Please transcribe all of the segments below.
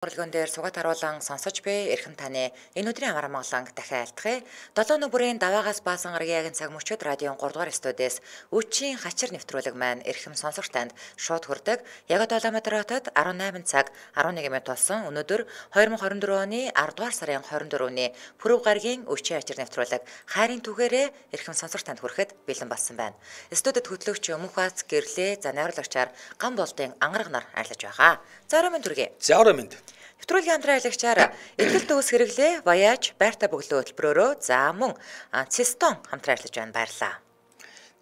Урлагын дээр сугат харуулан сонсож буй эрхэм таны энэ өдрийн амар амгалан дахин айлтгая. 7 нүбэрийн даваагаас баасан гарагийн цаг мөчид радион 3 дугаар студиэс үчийн хачир нэвтрүүлэг маань эрхэм сонсогч танд шууд хүрдэг. Яг одоо Улаанбаатар хотод 18 цаг 11 минут болсон. Өнөөдөр 2024 оны 10 дугаар сарын 24-ний пүрэв гарагийн үчийн хачир нэвтрүүлэг хайрын түгээрээ эрхэм сонсогч танд хүрэхэд бэлэн болсон байна. Студид хөтлөгч Мөнхбац гэрлээ за найруулагчаар гам болдын ангараг нар арилж байгаа. За орой минь түргий. За орой минь. Нэвтрүүлгийн хамтран аялагчаар эдгэл дүүс хэрэглээ Voyage байртай бөглөө хөтөлбөрөөрөө за мөн Цистон хамтран ажиллаж байна баярлаа.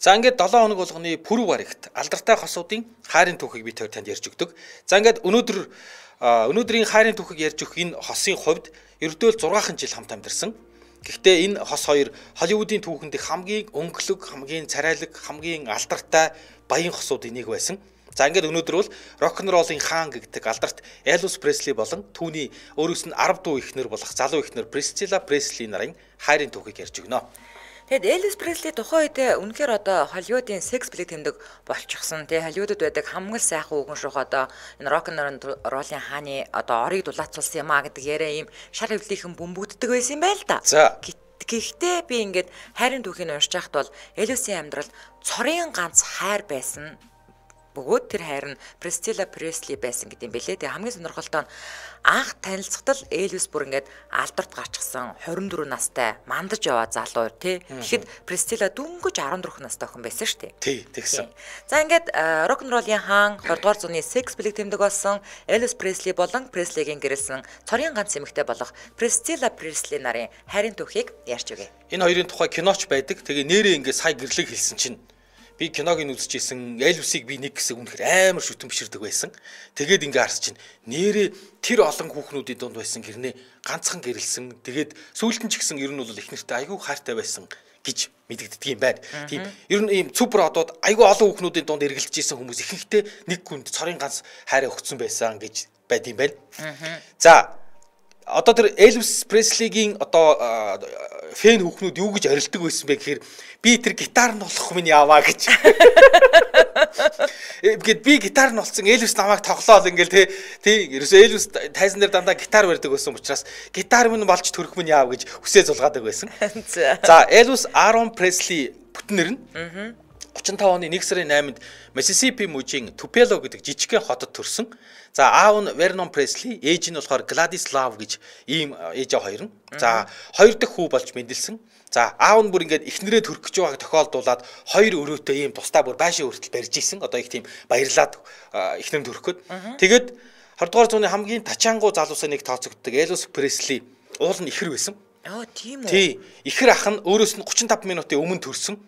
За ингээд 7 хоног болгоны пүрэв гарагт алдартай хосуудын хайрын түүхийг би танд ярьж өгдөг. За ингээд өнөөдрийн хайрын түүхийг ярьж өгөх энэ хосын хувьд ердөө л 6 жил хамт амьдарсан. Гэхдээ энэ хос хоёр Холливуудын түүхэнд хамгийн өнгөлөг, хамгийн царайлаг, хамгийн алдартай баян хосуудын нэг байсан. За ингээд өнөөдөр бол рок-н-роллын хаан гэгдэг алдарт Элвис Пресли болон түүний өөрөөс нь 10 дуу эхнэр болох залуу эхнэр Присцилла Пресли нарын хайрын түүхийг ярьж өгнө. Тэгэд Элвис Пресли тухайн үед үнэхээр одоо Холливуудын секс билет тэмдэг болчихсон. Тэгээ Холливуудад байдаг хамгийн сайхан үгэн шух одоо энэ рок-н-роллын хааны одоо орыг дулаацуулсан юм а гэдэг яриа ийм шар хөвлийнхэн бөмбөгддөг байсан юм байл та. За гэхдээ би ингээд хайрын түүхийг уншиж байхад бол Элвисийн амьдрал цорын ганц хайр байсан. Бөгөөд тэр хайр нь Присцилла Пресли байсан гэдэг юм бэлээ. Тэгээ хамгийн сонирхолтой нь анх танилцахтал Элвис бүр ингээд алдарт гарчихсан 24 настай мандаж яваа залуу тий. Тэгэхэд Присцилла дөнгөж 14 настай охин байсан шүү дээ. Тий, тэгсэн. За ингээд рок-н-роллын хаан 20 дугаар зууны секс билет тэмдэг болсон Элвис Пресли болон Преслигийн гэрэлсэн цорын ганц эмэгтэй болох Присцилла Пресли нарын хайрын түүхийг ярьж өгье. Энэ хоёрын тухай киноч байдаг. Тэгээ нэрээ ингээд сая гэрлэг хэлсэн чинь би киног нь үзчихсэн Элвисийг би нэг хэсэг үнэхээр амар шүтэн биширдэг байсан. Тэгээд ингээ харс чинь нэрээ тэр олон хүүхнүүдийн дунд байсан гэрнээ ганцхан гэрэлсэн. Тэгээд сүүлд нь ч гэсэн ер нь бол их нэртэй айгүй хайртай байсан гэж мэдэгддэг юм байна. Тийм ер нь ийм супер одод айгүй олон хүүхнүүдийн дунд эргэлдэж исэн хүмүүс ихэнхдээ нэг хүнд цорын ганц хайраа өгсөн байсан гэж байд юм байна. За одоо тэр Элвис Преслигийн одоо фэн хүүхнүүд юу гэж орилдог байсан бэ гэхээр би тэр гитар нь болох минь яваа гэж. Гэт би гитар нь болсон Элвис намайг тоглоол ингээл тий ерөөсөө Элвис тайзан дээр дандаа гитар барьдаг байсан учраас гитар минь болж төрөх минь яав гэж хүсээ зулгаадаг байсан. За Элвис Арон Пресли бүтнэр нь 35 оны 1 сарын 8-нд Миссисипи мужийн Тупело гэдэг жижигхэн хотод төрсөн. За аав нь Вернон Пресли, ээж нь болохоор Гладис Лав гэж ийм ээж хоёр нь. За хоёр дахь хүү болж мэндэлсэн. За аав нь бүр ингээд эхнэрээ төрөх гэж байгааг тохиолдуулаад хоёр өрөөтэй ийм тусдаа бүр байшин хүртэл барьж исэн. Одоо их тийм баярлаад эхнэр нь төрөхөд. Тэгээд 20 дугаар зууны хамгийн тачаангуу залуусаа нэг тооцогддог Элвис Пресли уул нь ихэр байсан. Тийм үү. Тий. Ихэр ах нь өөрөөс нь 35 минутын өмнө төрсөн.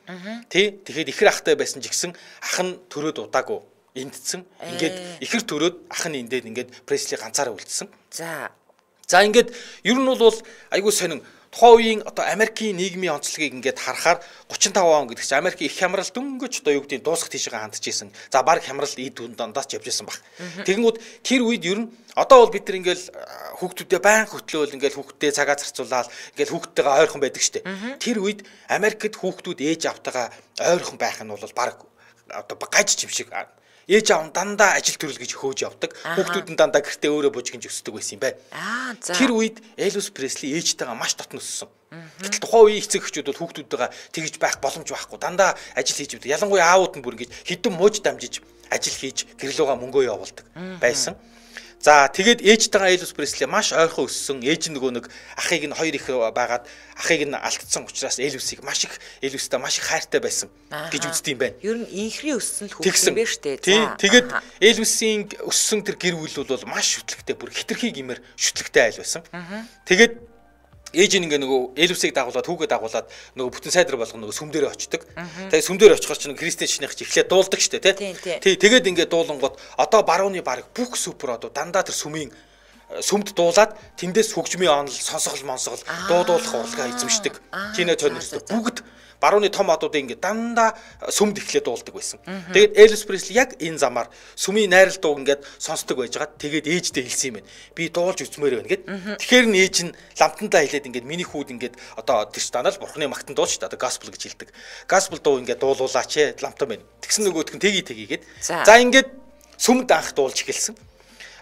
Тий. Тэгэхээр ихэр ахтай байсан ч гэсэн ах нь төрөөд удаагүй эндсэн. Ингээд ихэр төрөөд ах нь эндээд ингээд Пресли ганцаараа үлдсэн. За ингээд ер нь бол айгүй сонин тухайн үеийн одоо Америкийн нийгмийн онцлогийг ингээд харахаар 35 он гэдэг чинь Америкийн их хямрал дөнгөж одоо юу гэдэг нь дуусах тийшээ хандж исэн. За баг хямрал эд дундаас ч явж исэн баг. Тэгэнгүүт тэр үед ер нь одоо бол бид нар ингээл хүүхдүүдэд байн хөтлөөл ингээл хүүхдтэй цагаа зарцуулаад ингээл хүүхдтэйгээ ойрхон байдаг штэ. Тэр үед Америкт хүүхдүүд ээж автайгаа ойрхон байх нь бол баг одоо гаж чим шиг ээж аав дандаа ажил төрөл гэж хөөж явдаг. Хүүхдүүд нь дандаа гэртээ өөрөө бужигнж өсдөг байсан юм байна. Тэр үед Элвис Пресли ээжтэйгээ маш дотн өссөн. Гэтэл тухайн үеийн эцэг эхчүүд бол хүүхдүүдтэйгээ тэгж байх боломж байхгүй. Дандаа ажил хийж явдаг. Ялангуяа аавууд нь бүр ингэж хэдэн мууж дамжиж ажил хийж гэрлүүгээ мөнгөө явуулдаг байсан. За тэгээд ээжтэйгээ Элвис Пресли маш ойрхон өссөн. Ээж нь нөгөө нэг ахыг нь хоёр их байгаад ахыг нь алдсан учраас Элвистэй маш их хайртай байсан гэж үздэг юм байна. Ер нь инхри өссөн л хүүхэн бэ штэ. Тэгээд Элвисийн өссөн тэр гэр бүл бол маш шүтлэгтэй бүр хитрхий гимээр шүтлэгтэй айл байсан. Тэгээд ээж нь ингээ нөгөө Элвисийг дагуулад хүүгээ дагуулад нөгөө бүтэн сайдар болгоно нөгөө сүм дээрээ очдог. Тэгээ сүм дээр очихоор чинь Кристен шинийх чи эхлээд дуулдаг штэ тий. Тэгээд ингээ дуулангууд одоо барууны баг бүх супер одоо дандаа тэр сүмд дуулаад тэндээс хөгжмийн онол сонсгол монсгол дуудуулах урлагаа эзэмшдэг. Кино тонортой бүгд барууны том одуудыг ингээ дандаа сүмд эхлээд дуулдаг байсан. Тэгээд Элвис Пресли яг энэ замаар сүмийн найрал дуу ингээд сонсдог байжгаад тэгээд ээждээ хэлсэн юм байна. Би дуулж үзмээр байна гэд. Тэгэхээр нь ээж нь ламтандаа хэлээд ингээд миний хүүд ингээд одоо тэр станаа л бурхны магтан дуу шүү дээ. Одоо gospel гэж хэлдэг. Gospel дуу ингээд дуулуулаач ламтан байна. Тэгсэн нөгөөдх нь тгийгээд. За ингээд сүмд анх дуулж эхэлсэн.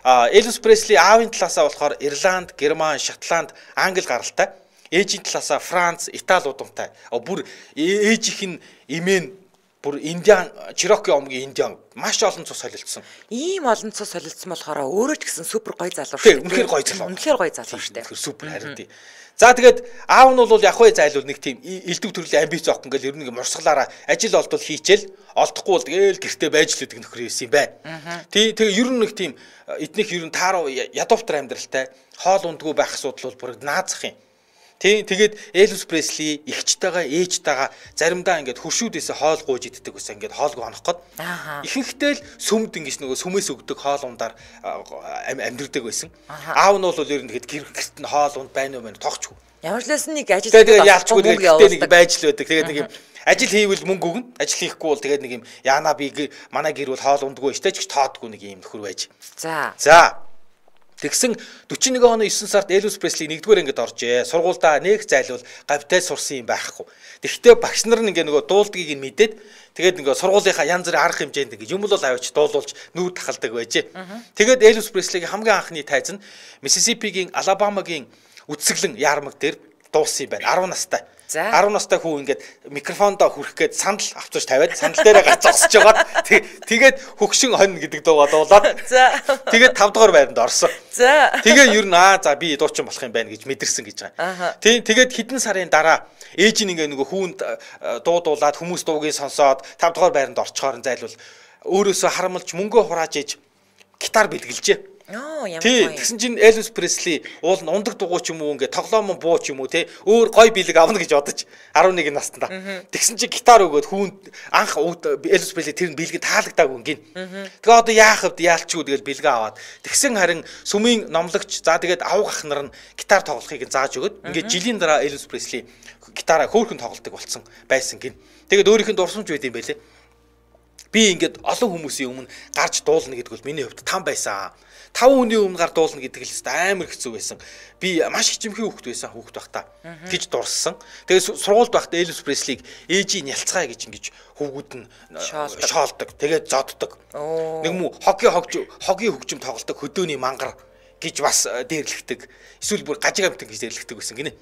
Элвис Пресли аавын талаасаа болохоор Ирланд, Герман, Шотланд, Англи гаралтай. Ээжийн талаасаа Франц, Итали удамтай. Бүр ээжийнх нь имэн бүр Индиан, Чироки омгийн Индиан маш олон цус солилцсон. Ийм олон цус солилцсон болохоор өөрөө ч гэсэн супер гоё залуу шүү. Үнэхээр гоё залуу. Үнэхээр гоё залуу шүү дээ. Супер харин тий. За тэгээд аав нь бол яг хөө зайлуул нэг тийм элдв төрлийн амбиц авах ингээл ер нь мурсгалаараа ажил олдвол хийчихэл олдохгүй бол тэгээл гэртээ байж л гэдэг нөхөр байсан юм байна. Тэгээ ер нь нэг тийм эднийх ер нь тааруу ядууфтар амьдралтай хоол ундгүй байх асуудал бол бүр наазах юм. Тэгээд Элвис Пресли эгчтэйгээ ээжтэйгээ заримдаа ингээд хуршүүдээс хоол гууж иддэг гэсэн ингээд хоолгүй хонох гээд ихэнхдээ л сүмд ингэж нөгөө сүмээс өгдөг хоол ундаар амьдрдаг байсан. Аав нь бол ер нь тэгэд гэрт нь хоол унд байна уу мэн тогчгүй. Ямар ч лсэн нэг ажил тэгээд яалчгүй тэгээд нэг байж л байдаг. Тэгээд нэг юм ажил хийвэл мөнгө өгнө. Ажил хийхгүй бол тэгээд нэг юм яана би манай гэр бол хоол ундгүй штэ ч тоодгүй нэг юм нөхөр байж. За тэгсэн 41 оны 9 сард Элвис Пресли 1-р ангид оржээ. Сургуульдаа нэг зайлуул гавьтай сурсан юм байхгүй. Тэгэхдээ багш нар нь ингээ нөгөө дуулдгийг нь мэдээд тэгээд нөгөө сургуулийнхаа янз бүрийн арга хэмжээнд ингээ юм бол аваач дуулуулж нүүр тахалдаг байжээ. Тэгээд Элвис Преслигийн хамгийн анхны тайз нь Миссисипигийн Алабамагийн үтсгэлэн яармаг дээр дуулсан юм байна. 10 настай. 10 настай хүү ингээд микрофондоо хүрэх гээд сандал авчирч тавиад сандал дээрээ гарч зогсож байгаад тэгээд хөгшин хонь гэдэг дуугаа дуулаад тэгээд 5 дугаар байранд орсон. Тэгээ ер нь за би дуучин болох юм байна гэж мэдэрсэн гэж байгаа. Тэгээд хэдэн сарын дараа ээж нь ингээ нөгөө хүүнд дуулаад хүмүүс дуугийг сонсоод 5 дугаар байранд орчхоор зайлвал өөрөөсөө харамлж мөнгөө хурааж ээж гитар бэлгэлжээ. Тэгсэн чинь Элвис Пресли уул нь ундаг дугуй ч юм уу ингээ тоглоомон буу ч юм уу те өөр гой бэлэг авна гэж бодож 11 настанда. Тэгсэн чинь гитар өгөөд хүүнд анх Элвис Пресли тэр нь бэлгэд таалагдаагүй гин. Тэгээ одоо яах вэ яалчгүй тэгэл бэлгээ аваад тэгсэн харин сүмийн номлогч за тэгээд авах ах нар нь гитар тоглохыг зааж өгöd. Ингээ жилийн дараа Элвис Пресли гитараа хөөрхөн тоглодог болсон байсан гин. Тэгээд өөрийнх нь дурсамж байд юм байлээ. Би ингээд олон хүмүүсийн өмнө гарч дуулна гэдэг бол миний хувьд там байсан. 5 хүний өмнө гар дуулна гэдэг л амар хэцүү байсан. Би маш хичмхий хүүхэд байсан хүүхэд байхдаа гэж дурссан. Тэгээд сургуульд байхдаа Элвис Преслиг ээжийн нялцгаая гэж ингэж хүүгүүд нь шоолдог. Тэгээд зоддог. Нэг мүү хогийн хөгжим тоглолдог хөдөөний мангар гэж бас дээрлэгдэг. Эсвэл бүр гажиг амтан гэж дээрлэгдэг байсан гинэ.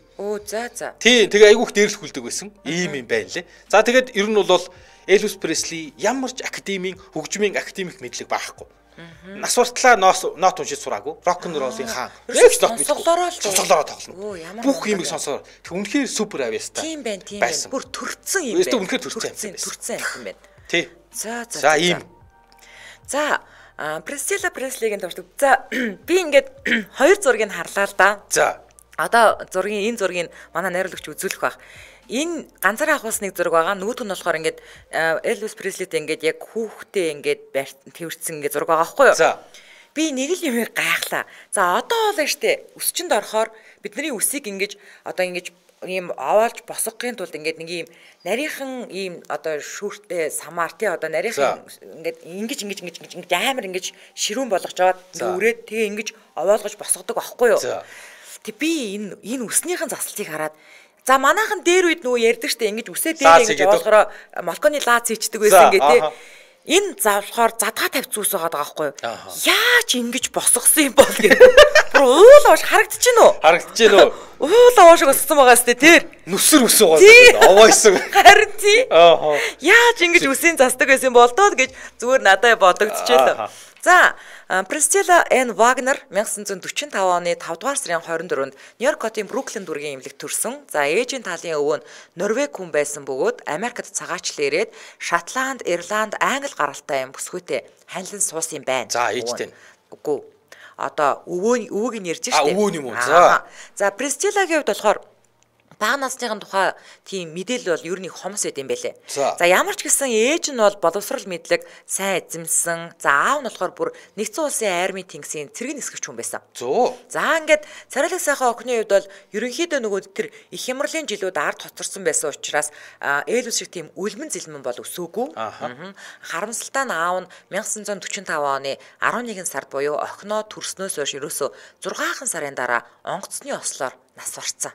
Тэгээ айгүйх дээрлэхүүлдэг байсан. Ийм юм байна лээ. За тэгээд ер нь бол Элвис Пресли ямар ч академийн хөгжмийн академик мэдлэг байхгүй. Нас уртлаа нот уншиж сураагүй. Рок н роллын хаан. Нэг нот мэдгүй. Сонсголоороо тоглоно. Бүх юмыг сонсоор. Тэг үнэхээр супер авьяастай. Тийм байна. Бүр төрцөн юм байна. Үнэхээр төрцөн юм байна. Тий. За ийм. За Priscilla Presley-гийн дуртай. За би ингээд хоёр зургийг харлаа л да. За. Одоо энэ зургийг манай найруулагч үзүүлэх баг. Энэ ганцаараа авахс нэг зураг байгаа. Нөгөөх нь болохоор ингээд Элвис Преслитэй ингээд яг хүүхдээ ингээд тэрвэрсэн ингээд зураг байгаа байхгүй юу? За. Би нэг л юм гайхлаа. За одоо бол штэ өсчөнд орохоор бидний үсийг ингээд одоо ингээд ийм овоолж босгохын тулд ингээд нэг ийм нарийнхан ийм одоо шүүртэй самаар тий одоо нарийнхан ингээд ингэж амар ингэж ширүүн болгож аваад үрээд тэгээ ингэж овоолгож босгодог байхгүй юу? Тэг би энэ үснийхэн заслыг хараад за манайхан дээр үед нөгөө ярьдаг штэ ингэж үсээ дээр ингэж явуулахаараа молконы лаац хийчдэг байсан гэ тий. Энэ завлахаар задгаа тавьц ус байгаа байхгүй юу? Яаж ингэж босгосон юм бол гэх. Бүр уул ууш харагдчихэв нөө? Харагдчихэв нөө. Уул уушиг өссөн байгаа штэ тэр. Нүсэр үс байгаа. Овоойсон. Харин тий. Яаж ингэж үсийн засдаг байсан болдоо гэж зүгээр надад бодогдчихлоо. За Priscilla Ann Wagner 1945 оны 5 дугаар сарын 24-нд Нью-Йорк хотын Бруклин дүүргийн эмнэлэгт төрсөн. За ээжийн талын өвөө нь Норвеги хүн байсан бөгөөд Америкт цагаачлал ирээд Шотланд, Ирланд, Англи гаралтай юм бүсгүйтэй ханилан суусан юм байна. За ээжтэй. Үгүй. Одоо өвөөг нь ярьж штеп. Өвөө юм уу? За Priscilla-гийн хувьд болохоор бага насныхын тухай тийм мэдээлэл бол ер нь хомос байд юм байлээ. За ямар ч гэсэн ээж нь бол боловсрал мэдлэг, сайн эзэмсэн. За аав нь болохоор бүр нэгдсэн улсын армийн тэнгисийн цэргийн нисгэгч хүн байсан. За ингээд царайлаг сайхан охины хувьд бол ерөнхийдөө нөгөө тэр их хямралын жилүүд ард хоцорсон байсан учраас Элвис шиг тийм үлмэн зэлмэн бол өсөөгүй. Харамсалтай нь аав нь 1945 оны 11 сард буюу охиноо төрснөөс хойш ерөөсөө 6 сарын дараа онгоцны ослоор нас барцсан.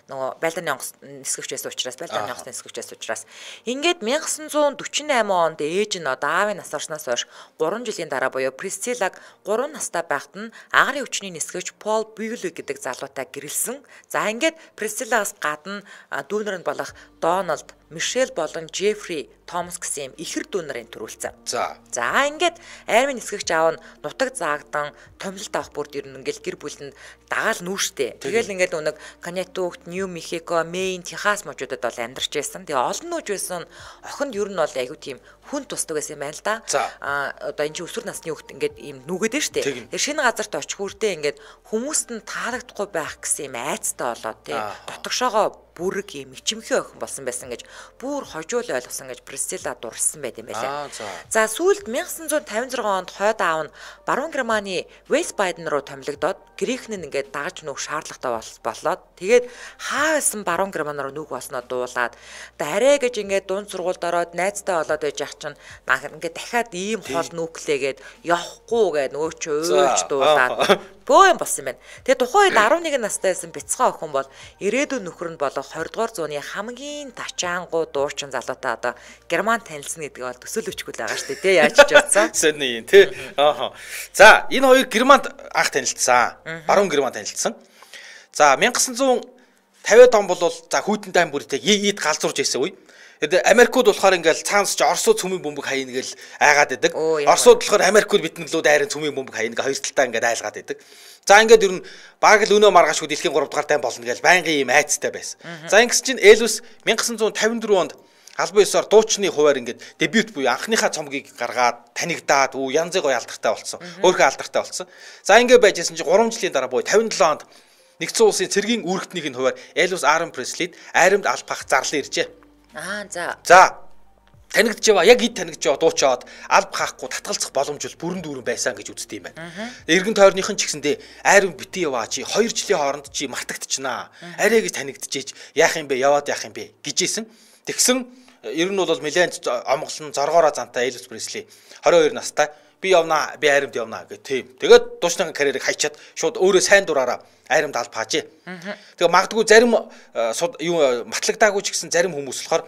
Нөгөө Байлдааны онгоц нисгэгч байсан учраас Байлдааны онгоцны нисгэгч байсан учраас ингээд 1948 онд ээж нь аавын нас барснаас хойш 3 жилийн дараа буюу Присциллаг 3 настай байхад нь агарын өвчний нисгэгч Пол Бьюлик гэдэг залуутай гэрэлсэн. За ингээд Присциллагаас гадна дүүнэр нь болох Дональд, Мишель болон Жеффри Томас гэсэн ихэр дүүнэрийн төрүүлсэн. За ингээд армийн нисгэгч аав нь нутаг заагдан томилолт авах бүрд ер нь ингээл гэр бүлэнд дагаал нүүштэй. Тэгэл ингээд өнөг Коннектикут, Нью Мехико, Мэйн, Техас мужуудад бол амьдарч байсан. Тэгээ олон нүүж байсан охинд ер нь бол айгүй тийм хүн тусдаг байсан юм байна л да. Одоо энэ чинь өсвөр насны хүүхд ингээд ийм нүгэд нь штэ. Тэр шинэ газарт очих хүртээ ингээд хүмүүст нь таалагдахгүй байх гэсэн юм айцтай болоод тий. Дотгошоогоо бүрэг юм ичимхий охин болсон байсан гэж бүр хожуул ойлгосон гэж Присцилла дурсан байт юм байлаа. За сүүлд 1956 онд хойд аав нь Баруун Германы Вестбайден руу томилогдоод грек нь ингээд дагаж нүүх шаардлагатай болоод тэгээд хаасан Баруун Герман руу нүүх болсноо дуулаад арай гэж ингээд дунд сургуульд ороод найзтай болоод байж ах чинь ингээд дахиад ийм хол нүүхлээгээд явахгүй гээд нөгөө ч уйлж дуулаад бөө юм болсон юм байна. Тэгээ тухайн үед 11 настай байсан бяцхан охин бол ирээдүйн нөхөр нь болох 20 дугаар зууны хамгийн тачаангуу дуучин залуутай одоо Герман танилцсан гэдэг бол төсөөлөвчгүй л байгаа шүү дээ. Яаж ч бодсон. Сэний юм тий. За энэ хоёр Германд анх танилцсан. Баруун Герман танилцсан. За 1950-ад он бол за хүйтэн тайм бүртэй ийд галзуурж ирсэн үе. Америкууд болохоор ингээл цаанаас ч Оросууд цөмийн бөмбөг хаяна гэж айгаад идэг. Оросууд болохоор Америкууд биднэлүүд айрын цөмийн бөмбөг хаяна гэж хоёр талдаа ингээд айлгаад идэг. За ингээд ер нь баг л өнөө маргаашгүй дэлхийн 3 дугаар тайм болно гэж байнгын юм айцтай байсан. За ингэс чинь Элвис 1954 онд албан ёсоор дуучны хуваар ингээд дебют буюу анхныхаа цомгийг гаргаад танигдаад янзын гоё алдартай болсон. Өөрөө алдартай болсон. За ингээд байжсэн чинь 3 жилийн дараа буюу 57 онд нэгдсэн улсын цэргийн үүрэгтнийхний хуваар Элвис Арен Преслид айрамд албах зарлан иржээ. За танигдж яваа яг ид танигдж яваа дуучаад алба хаахгүй татгалзах боломж бол бүрэн дүүрэн байсан гэж үздэг юм байна. Эргэн тойрныхан ч гэсэндээ айрын битий яваа чи 2 жилийн хооронд чи мартагдчихнаа. Арай гэж танигдчихэж яах юм бэ яваад яах юм бэ гэжсэн. Тэгсэн ер нь бол нэлээд омголон зоргоороо зантай Элвис Пресли 22 настай би явнаа би айрамд явнаа гэх тийм. Тэгээд дуучны карьерийг хайчаад шууд өөрөө сайн дураараа айрамд алба хаажээ. Тэгээ магадгүй зарим матлагдаагүй ч гэсэн зарим хүмүүс болохоор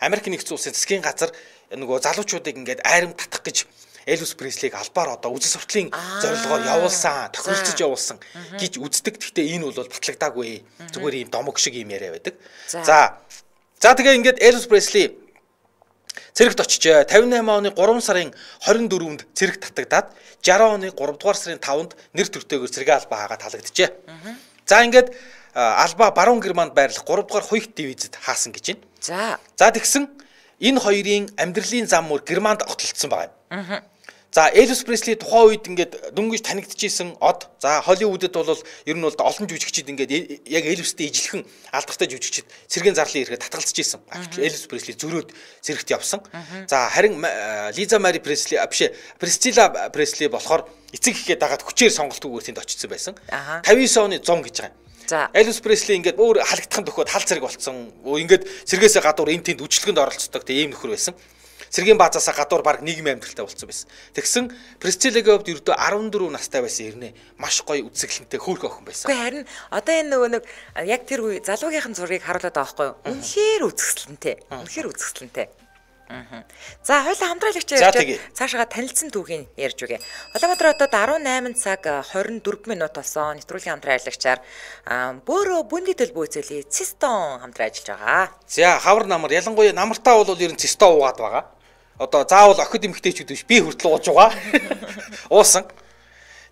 Америк нэгдсэн улсын засгийн газар нөгөө залуучуудыг ингээд айрамд татах гэж Элвис Преслиг албаар одоо үзэл сурталын зорилгоор явуулсан, тохиролцож явуулсан гэж үздэг. Гэхдээ энэ бол батлагдаагүй. Зүгээр ийм домог шиг юм яриа байдаг. За тэгээ ингээд Элвис Пресли цэрэгт очижээ. 58 оны 3 сарын 24-нд цэрэг татагдаад 60 оны 3 дугаар сарын 5-нд нэр төртэйгээр цэргийн албаа хаагаад талагджээ. За ингээд албаа Баруун Германд байрлах 3 дугаар Хуйхт дивизэд хаасан гэж байна. За тэгсэн энэ хоёрын амьдралын зам мөр Германд огтлцсон байгаа юм. За Элвис Пресли тухайн үед ингээд дөнгөж танигдчихсэн од. За Холливуудад бол ер нь бол олон жүжигчид ингээд яг Элвистэй ижилхэн алдартай жүжигчид цэргийн зарлын ирэхэд татгалзаж исэн. Элвис Пресли зөрөөд цэрэгт явсан. За харин Лиза Мари Пресли Присцилла Пресли болохоор эцэг ихэд дагаад хүчээр сонголтгүйгээр тэнд очсон байсан. 59 оны 100 гэж байгаа юм. За Элвис Пресли ингээд өөр халагдахын төхөд хал цэрэг болсон. Ингээд цэргээсээ гадуур энэ тэнд үжилгэнд оролцдог тийм нөхөр байсан. Цэргийн баазаасаа гадуур баг нийгмийн амьдралтай болсон байсан. Тэгсэн Присциллагийн хувьд ердөө 14 настай байсан ирнэ. Маш гоё үзэсгэлэнтэй хөөрхөн охин байсан. Гэхдээ харин одоо энэ нөгөө нэг яг тэр үе залуугийнхэн зургийг харуулдаг байхгүй юу? Үнэхээр үзэсгэлэнтэй. Үнэхээр үзэсгэлэнтэй. За хоёулаа хамтраалагч ярьж цаашаа танилцсан түүхийг ярьж үгээ. Улаанбаатар хотод 18 цаг 24 минут болсон. Нэвтрүүлгийн хамтраалагчаар бөөрөө бүндитэл бөөцөлий цистон хамтран ажиллаж байгаа. За хавар намар ялангуяа намартаа бол ер нь цистон уугаад байгаа. Одоо заавал охид эмэгтэйчүүд биш би хүртэл ууж байгаа. Уусан.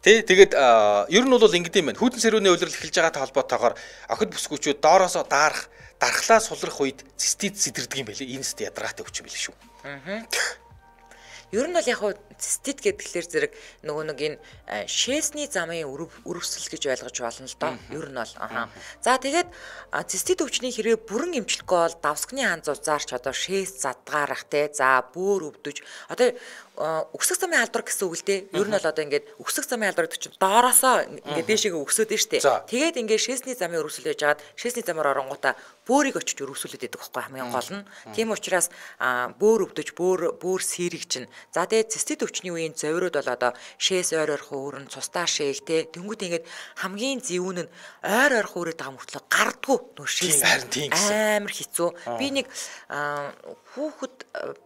Тэгээд ер нь бол ингэдэм байна. Хүйтэн сэрүүний улирал эхэлж байгаатай холбоотойгоор охид бүсгүүчүүд доороосоо дархлаа сулрах үед цистит сэтэрдэг юм байлээ. Энэ тест ядаргаатай өвчин байлээ шүү. Ер нь бол яг хуу цистит гэдгээр зэрэг нөгөө нэг энэ шээсний замын өрөвсөл гэж ойлгож болно л доо. Ер нь бол За тэгээд цистит өвчний хэрэг бүрэн эмчлэхгүй бол давсгны хан зузаарч одоо шээс задгаарах те. За бөөр өвдөж одоо өксөх замын алдар гэсэн үг л дээ. Ер нь бол одоо ингээд өксөх замын алдар гэдэг чинь доороосоо ингээд дээшээгээ өксөд дээ штэ. Тэгээд ингээд шээсний замын өрөвсөл байж хагаад шээсний замаар оронгуудаа бөөрийг очиж өрөвсүүлээд байдаг байхгүй хамгийн гол нь. Тийм учраас бөөр өвдөж бөөр сэрэг чинь. За тэгээд цистит цэцэд өвчний үеийн зовирууд бол одоо шээс ойр ойрхон өөрн цустаа шээл те. Тэнгүүд ингээд хамгийн зэвүүн нь ойр ойрхон өрөөд байгаа мөртлөө гардггүй нөө шээс амар хэцүү. Би нэг хүүхэд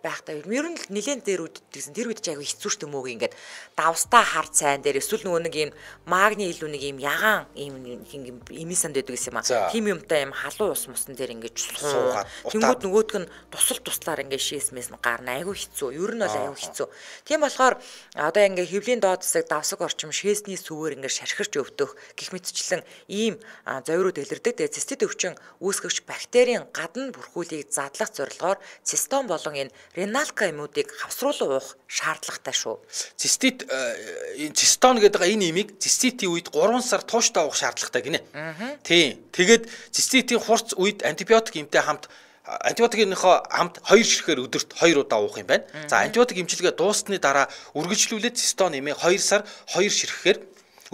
байхдаа ер нь нэлээд дээр үддэгсэн тэр үед ч айгүй хэцүү штэ мөөг ингээд давстаа хар цайн дээр эсвэл нөгөө нэг юм магний илүү нэг юм ягаан юм имисанд байдаг гэсэн юм аа. Тим юмтай юм халуун ус мусан дээр ингээд суугаад тэнгүүд нөгөөдг нь туслаар ингээд шээсмээс нь гарна айгүй хэцүү. Ер нь бол айгүй хэцүү. Тийм болохоор одоо ингээд хөвлийн доод хэсэг давсаг орчим шээсний сүвээр ингээд шархирч өвдөх гэх мэтчлэн ийм зовирууд илэрдэг. Тэгээ цистит өвчин үүсгэгч бактерийн гадна бүрхүүлийг задлах зорилгоор цистон болон энэ реналка юмуудыг хавсруулан уух шаардлагатай шүү. Цистон гэдэг энэ имийг циститийн үед 3 сар тууштай уух шаардлагатай гинэ. Тийм. Тэгээд циститийн хурц үед антибиотик эмтэй хамт антибиотикийнхоо хамт 2 ширхгээр өдөрт 2 удаа уух юм байна. За антибиотик эмчилгээ дууссны дараа үргэлжлүүлээд цистон имийг 2 сар 2 ширхгээр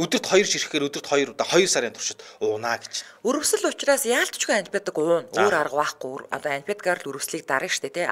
өдөрт 2 ширхгээр өдөрт 2 удаа 2 сарын туршид уунаа гэж. Өрөвсөл учраас яалтчгүй антибиотик уун. Өөр арга байхгүй. Одоо антибиотикаар л өрөвслийг дарна штэ тий.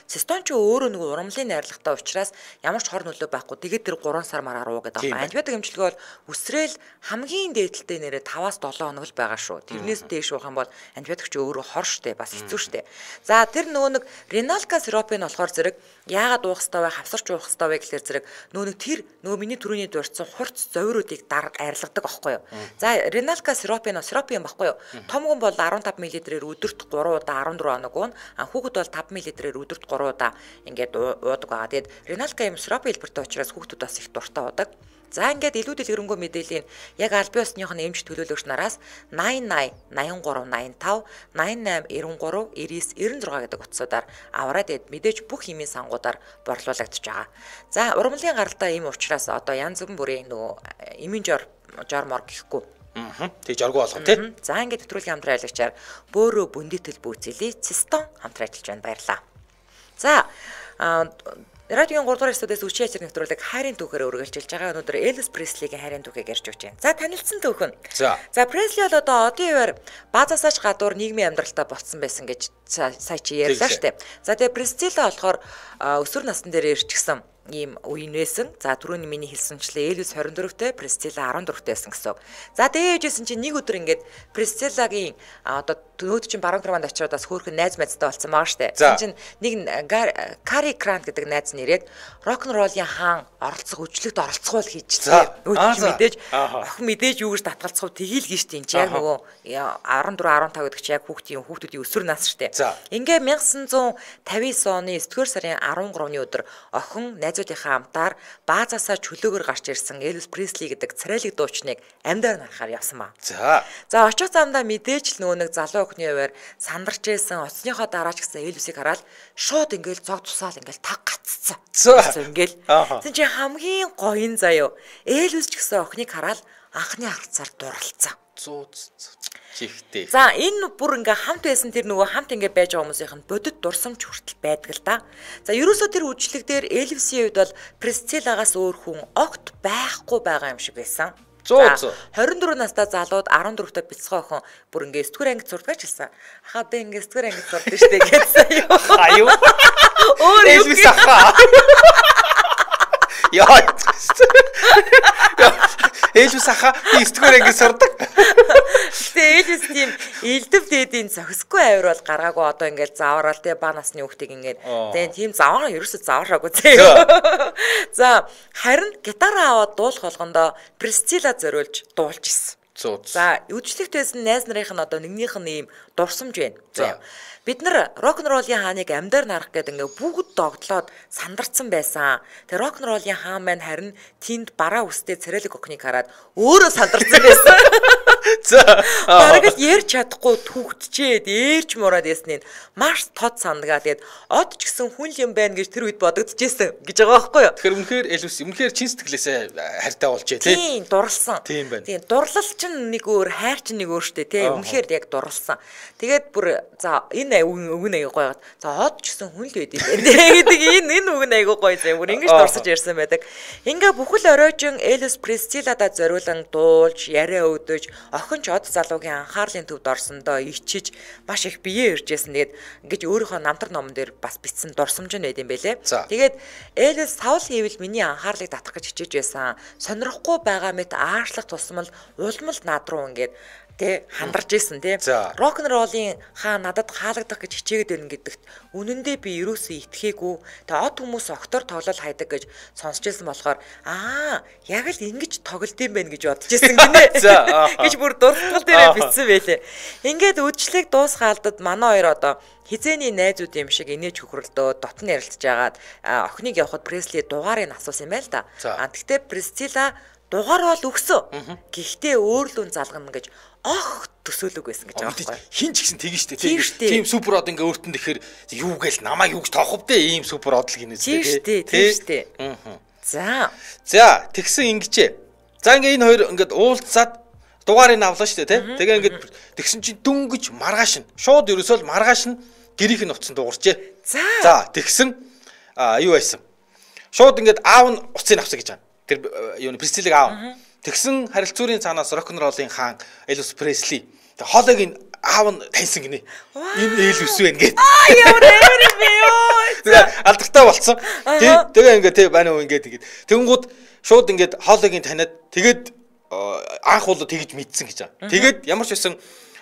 Цистон ч өөрөө нэг урамлын найрлагатай учраас ямар ч хор нөлөө байхгүй. Тэгээд тэр 3 сар мараар уу гэдэг байна. Антибиотик эмчилгээ бол үсрээл хамгийн дээдэлтэй нэрээ 5-7 хоног л байгаа шүү. Тэрнээс дээш уух юм бол антибиотик ч өөрөө хор штэ бас хэцүү штэ. За тэр нөгөө нэг реналка сироп нь болохоор зэрэг яагаад уух хэвээр вэ? Хавсарч уух хэвээр вэ гэхэлэр зэрэг нөгөө миний түрүүний дурдсан хурц зовируудыг арилгадаг байхгүй юу. За реналка сироп юм байхгүй юу. Том хүн бол 15 мл-ээр өдөрт 3 удаа 14 хоног уун. Хүүхэд бол 5 мл-ээр өдөрт 3 удаа ингээд уудаг байгаа. Тэгээд реналка юм сироп хэлбэртэй учраас хүүхдүүд бас их дуртай уудаг. За ингээд илүү дэлгэрэнгүй мэдээллийн яг аль биесныхоо эмч төлөөлөгч нараас 80 83 85 88 93 99 96 гэдэг утсуудаар аваад мэдээж бүх химийн сангуудаар борлуулагдаж байгаа. За ургамлын гаралтай ийм учраас одоо янз бүрийн нөгөө эмийн жормор гэхгүй. Тэг жаргуу болгоо тий. За ингээд нэвтрүүлгийн хамтран аялагчаар бөөрөө бүндитэл бүүцэлий цистон хамтран ажиллаж байна. Баярлалаа. За радиогийн 3 дугаар студиэс үчи ячир нэвтрүүлэг хайрын түүхээр үргэлжилж байгаа. Өнөөдөр Элвис Преслигийн хайрын түүхийг ярьж өгч байна. За танилцсан түүхэн. За Пресли бол одоо одын үеэр базаасаач гадуур нийгмийн амьдралтай болцсон байсан гэж сая чи ярьлаа штэ. За тэгээ Пресцилла болохоор өсвөр насны дээр ирчихсэн ийм үеийн байсан. За түрүүний миний хэлсэнчлээ Элвис 24-тэй, Пресцилла 14-тэй байсан гэсэн. За дээжсэн чинь нэг өдөр ингээд Пресциллагийн одоо нөөд чинь баруун германд очиод бас хөөрхөн найз мэдтэй болсон байгаа штэ. Чинь нэг Кари Крант гэдэг найз нэрээд рок-н-роллын хаан оролцох өчлөгт оролцохол хийжсэн. Мэдээж охин мэдээж юу гэж татгалцах тгийл гин штэ. Яг нөгөө 14 15 гэдэг чи яг хүүхдүүдийн өсвөр нас штэ. Ингээ 1959 оны 9-р сарын 13-ны өдөр охин найзуудынхаа хамтаар баазаасаа чөлөөгөр гарч ирсэн Элвис Пресли гэдэг царайлаг дуучныг амьдаар нарахаар явсан ба. За очих замдаа мэдээж л нөгөө нэг залуу охины хуваар сандарч байсан оцсныхоо дараач гэсэн Элвисийг хараад шууд ингээл зог тусаал ингээл таг гаццсан. Ингээл тийм чи хамгийн гоён заяо. Элвис ч гэсэн охиныг хараад анхны харцаар дурлцсан. Чихтэй. За энэ бүр ингээ хамт байсан тэр нөгөө хамт ингээ байж байгаа хүмүүсийнх нь бодит дурсамж хүртэл байдаг л да. За ерөөсөө тэр үжлэг дээр Элвисийн үед бол Пресциллагаас өөр хүн огт байхгүй байгаа юм шиг байсан. 24 настай залууд 14-т бяцхан охин бүр ингээ 9-р ангид сурдаг ч гэсэн. Хаа би ингээ 9-р ангид сурдаг штэ гэсэн юу. Хаяа. Өөр Элвис ахаа. Яа. Элвис ахаа би 9-р ангид сурдаг. Тэгээ Элвис тийм элдэв дээдийн зохисгүй авир бол гаргаагүй одоо ингээд зааварал те ба насны хүүхдийг ингээд тэгээ тийм заваа ерөөсөө заваараагүй зөө. За харин гитараа аваад дуулах болгондоо Пресцилла зориулж дуулж исэн. За үдшилтэйсэн найз нарын нь одоо нэгнийх нь ийм дурсамж байна. За бид нар рок-н-роллын хааныг амьдаар нарах гэдэг ингээ бүгд догтлоод сандарцсан байсан. Тэгээ рок-н-роллын хаан маань харин тэнд бараа үстэй царайлаг охиныг хараад өөрөө сандарцсан байсан. За бараг л ярьж чадахгүй түүхтчээд ээрч мураад ясныг маш тод сандгаа. Тэгээд од ч гэсэн хүн юм байна гэж тэр үед бодогдчихсэн гэж байгаа байхгүй юу? Тэгэхээр үнэхээр Элвис үнэхээр чин сэтгэлээсээ хайртай болжээ тий. Тийм дурлсан. Тийм байна. Тийм дурлал чинь нэг өөр, хайр чинь нэг өөр штэ тий. Үнэхээр яг дурлсан. Тэгээд бүр за энэ үгэн аяг гоё. За од ч гэсэн хүн л байд юм байна. Гэдэг энэ үгэн аяг гоё зэ. Бүр ингэж дурсаж ярьсан байдаг. Ингээ бүхэл оройжин Элвис Пресцилладад зориулан дуулж, яриа өгдөж, охин ч ороод залуугийн анхаарлын төвд орсондоо ичиж маш их биеэ иржсэн. Тэгээд ингэж өөрийнхөө намтар номон дээр бас бичсэн дурсамж нь байд юм байлээ. Тэгээд Элвис Саул хийвэл миний анхаарлыг татах гэж хичээж байсан. Сонирхгүй байгаа мэт аашлах тусмал улмал над руу ингээд тэ хандарч исэн тэ рок н роллын хаа надад хаалгадах гэж хичээгээд байна гэдэгт үнэндээ би юусоо итгэхээгүй тэ од хүмүүс октор тоглол хайдаг гэж сонсч ирсэн болохоор яг л ингэж тоглолт юм байна гэж бодож ирсэн гинэ гэж бүр дуртгал дээрээ бичсэн байлээ. Ингээд үдшилэг дуусгаалдад манай хоёр одоо хизээний найзууд юм шиг инээж хөхрөлдөө дотн ярилцж агаад охиныг явахад Пресли дугаарыг асуусан юм байл да. Тэгтээ Пресцилла дугаар бол өгсөн. Гэхдээ өөрлөө залгана гэж төсөөлөг байсан гэж байгаа байхгүй. Хин ч гэсэн тэгэн штэ. Тийм супер од ингээ өөртөө тэгэхээр юу гээл намайг юу гэж тоохов дээ ийм супер од л гинэ үстэй. Тийм штэ. За тэгсэн ингэчээ. За ингээ энэ хоёр ингээд уулзаад дугаарыг авлаа штэ тий. Тэгээ ингээд тэгсэн чинь дөнгөж маргааш нь шууд ерөөсөө л маргааш нь гэрийнх нь уцсан дуурчээ. За тэгсэн юу байсан. Шууд ингээд аав нь уцыг авсан гэж байна. Тэр юу Пресциллиг аав. Тэгсэн харилцуурын цаанаас рок н роллын хаан Элвис Пресли. Тэг хоолойг аав нь таньсан гинэ. Энэ Элвис байна гэд. Ямар юм бэ ёо. Тэгээ алдартай болцсон. Тэгээ ингээд тэг байна уу ингээд тэгээд тэгэнгүүт шууд ингээд хоолойг таниад тэгээд анх бол тэгж мэдсэн гэж байгаа. Тэгээд ямар ч байсан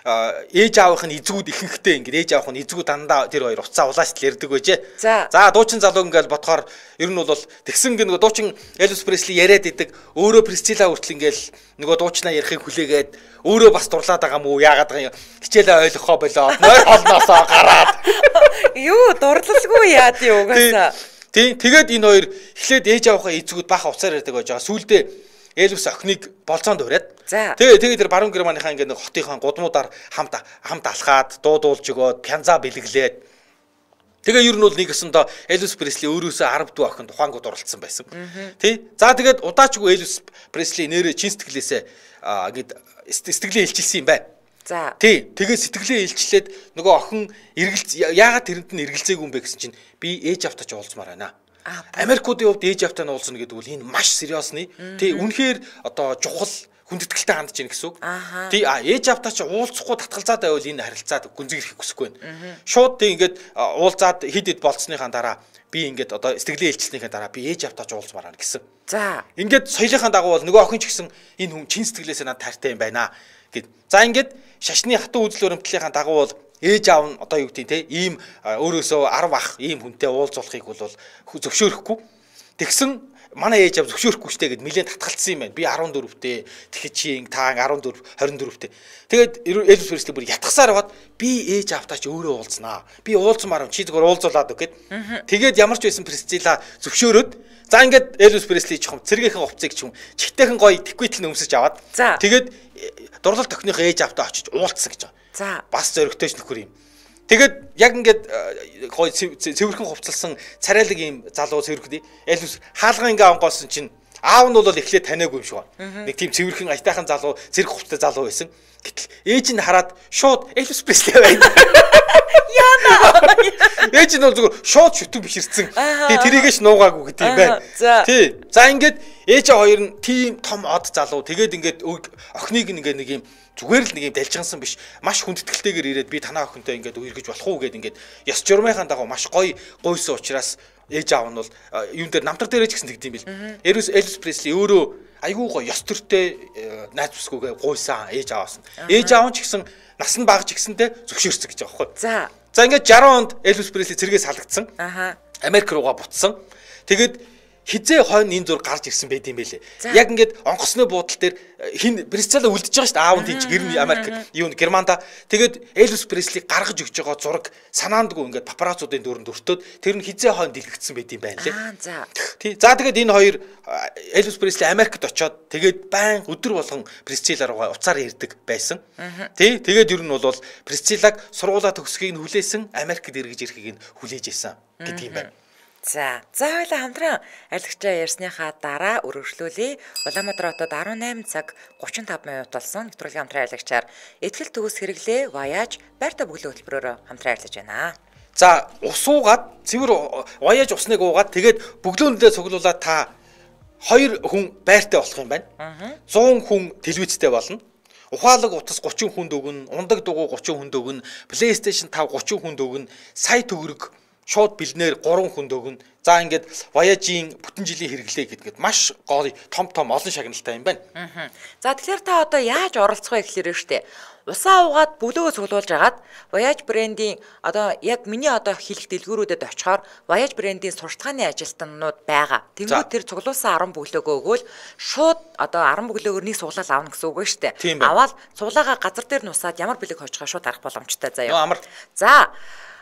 ээж аавынх нь эзгүүд ихэнхдээ ингээд ээж аавынх нь эзгүүд дандаа тэр хоёр уцаа улаас л ярьдаг байжээ. За дуучин залуу ингээд бодохоор ер нь бол тэгсэн нөгөө дуучин Элвис Пресли яриад идэг өөрөө Пресцилла хүртэл ингээд нөгөө дуучнаа ярихыг хүлээгээд өөрөө бас дурлаад байгаа мүү яагаад байгаа юм хичээлээ ойлгохоо болоо нойр холноосоо гараад юу дурлалгүй яад юу угаасаа. Тэгээд энэ хоёр эхлээд ээж аавынхаа эзгүүд баха уцаар ярьдаг байж байгаа. Сүүлдээ Элвис охиныг болцоонд ураад. Тэгээ тэр баруун Германыхаа ингээд нэг хотынхаа гудмуудаар хамт алхаад дуудуулж өгөөд пянза бэлгэлээд. Тэгээ ер нь бол нэг өсөндөө Элвис Пресли өөрөөсөө 10 дүү охин тухайнгууд оролцсон байсан. Тий. За тэгээд удаачгүй Элвис Пресли нэрээ чин сэтгэлээсээ ингээд сэтгэлээ илчилсэн юм байна. За. Тий. Тэгээ сэтгэлээ илчлээд нөгөө охин яагаад тэрэнд нь эргэлзээгүй юм бэ гэсэн чинь би ээж автач уулзмаар байна. Америкуудын хувьд ээж автаа нь уулзна гэдэг бол энэ маш сериосны. Тий, үнэхээр одоо чухал хүндэтгэлтэй хандж ийн гэсэн үг. Тий, ээж автаа чи уулзахгүй татгалзаад байвал энэ харилцаад гүнзгий ирэхгүй гэсгүй байна. Шууд тий ингээд уулзаад хид хид болцсныхаа дараа би ингээд одоо сэтгэлээ илчлснийхаа дараа би ээж автаа ч уулзмаар байна гэсэн. За. Ингээд соёлынхаа дагуу бол нөгөө охин ч гэсэн энэ хүн чин сэтгэлээсээ надад таартай юм байна гэд. За ингээд шашны хатуу үзэл баримтлалынхаа дагуу бол ээж аав нь одоо юу гэдэг те ийм өөрөөсөө 10 ах ийм хүнтэй уулзуулахыг бол зөвшөөрөхгүй. Тэгсэн манай ээж аав зөвшөөрөхгүй штэ гэд нэлээд татгалцсан юм байна. Би 14-тэй тэгэхэд чи та 14 24-тэй. Тэгээд Элвис Пресли бүр ятгасаар аваад би ээж аавтаа ч өөрөө уулзнаа. Би уулзмаар юм чи зүгээр уулзуулаад үг гэд. Тэгээд ямар ч байсан Пресцилла зөвшөөрөөд за ингээд Элвис Пресли ч юм цэргийнхэн хувцсыг ч юм чигтэйхэн гоё тэквитл нөмсөж аваад тэгээд дурлал тохиных ээж аавтаа очиж уулзсан гэж байгаа. За бас зөрөгтэйч нөхөр юм. Тэгээд яг ингээд гой цэвэрхэн хувцалсан царайлаг ийм залуу цэвэрхэн Элвис хаалган ингээ онгоосон чинь аав нь бол эхлээд таниагүй юм шиг байна. Нэг тийм цэвэрхэн аятайхан залуу зэрэг хувцтай залуу байсан. Гэтэл ээж нь хараад шууд Элвис Пресли байна. Яна. Ээж нь бол зүгээр шууд шүтэн биширсэн. Тэрийгээс нуугаагүй гэдэг юм байна. Тий. За ингээд ээж хоёр нь тийм том од залуу тэгээд ингээд охиныг ингээд нэг юм зүгээр л нэг юм далжгансан биш маш хүндэтгэлтэйгээр ирээд би танаа охинтой ингээд үергэж болох уу гэд ингээд ёс журмынхаа дагуу маш гоё гойсон учраас ээж аав нь бол юун дээр намтар дээрээ ч гэсэн тэгдэм бил. Элвис Пресли өөрөө айгүй гоё ёс төртэй найз бүсгүйгээ гойсан ээж ааваас нь. Ээж аав нь ч гэсэн нас нь бага ч гэсэнтэй зөвшөөрсөн гэж байгаа байхгүй. За ингээд 60 онд Элвис Пресли цэргээс салгацсан. Америк руугаа буцсан. Тэгээд хизээ хойно энэ зур гарч ирсэн байт юм байлээ. Яг ингээд онгоцны буудал дээр хин Пресцилла үлдэж байгаа шүү дээ. Аав нь тийч гэрний Америк юу Германда. Тэгээд Элвис Пресли гаргаж өгч байгаа зураг санаандгүй ингээд папарацуудын дөрөнд өртөөд тэр нь хизээ хойно дэлгэгдсэн байт юм байна лээ. Тий. За тэгээд энэ хоёр Элвис Пресли Америкт очоод тэгээд байн өдөр болгон Пресцилла руугаа уцаар ирдэг байсан. Тий. Тэгээд ер нь бол Пресциллаг сургуулаа төгсөхийг нь хүлээсэн, Америкт эргэж ирэхийг нь хүлээж исэн гэдэг юм байна. За хоёлаа хамтран арилгачаа ярьсныхаа дараа өргөжлүүлээ. Улаанбаатар хотод 18 цаг 35 минут болсон нэвтрүүлгийн хамтран арилгачаар ихтгэл төгс хэрэглээ Voyage байрта бүглээ хөтөлбөрөөр хамтран арилгаж байна. За ус уугаад цэвэр Voyage усныг уугаад тэгээд бүглөөндөө цуглуулаад та 2 хүн байртай болох юм байна. 100 хүн телевизтэй болно. ухаалаг утас 30 хүнд өгнө, ундаг дугуй 30 хүнд өгнө, PlayStation 5 30 хүнд өгнө, сая төгрөг шууд бэлнээр 3 хүнд өгнө. За ингээд Voyage-ийн бүтэн жилийн хэрэглээ гэдгээд маш гоё том олон шагналтай юм байна. За тэгэхээр та одоо яаж оролцох вэ гэхээр штэ. Усаа угаад бүлөөгөө цуглуулж агаад Voyage брендийн одоо яг миний одоо хэлэх дэлгүүрүүдэд очихоор Voyage брендийн сурталчилгааны ажилтнууд байгаа. Тэнгүүд тэр цуглуулсан 10 бүлөөгөө өгөөл шууд одоо 10 бүлөөгөр нэг суглал авна гэсэн үг шүү дээ. Аваад цуглаагаа газар дээр нусаад ямар бэлэг хожихоо шууд арах боломжтой заяа. За